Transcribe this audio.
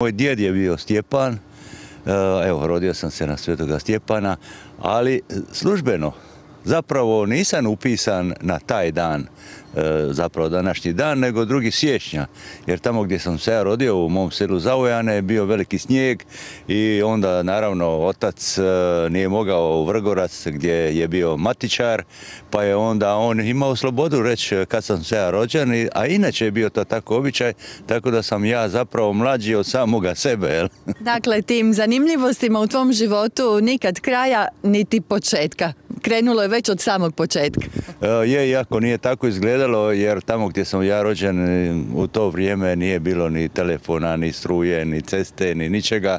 Moj djed je bio Stjepan, evo rodio sam se na Svetoga Stjepana, ali službeno zapravo nisam upisan na taj dan, zapravo današnji dan, nego 2. siječnja, jer tamo gdje sam se ja rodio u mom selu Zavojane je bio veliki snijeg i onda naravno otac nije mogao u Vrgorac gdje je bio matičar, pa je onda on imao slobodu reći kad sam se ja rođen, a inače je bio to tako običaj, tako da sam ja zapravo mlađi od samoga sebe. Jel? Dakle, tim zanimljivostima u tvom životu nikad kraja niti početka. Krenulo je već od samog početka. Iako nije tako izgledalo, jer tamo gdje sam ja rođen u to vrijeme nije bilo ni telefona, ni struje, ni ceste, ni ničega.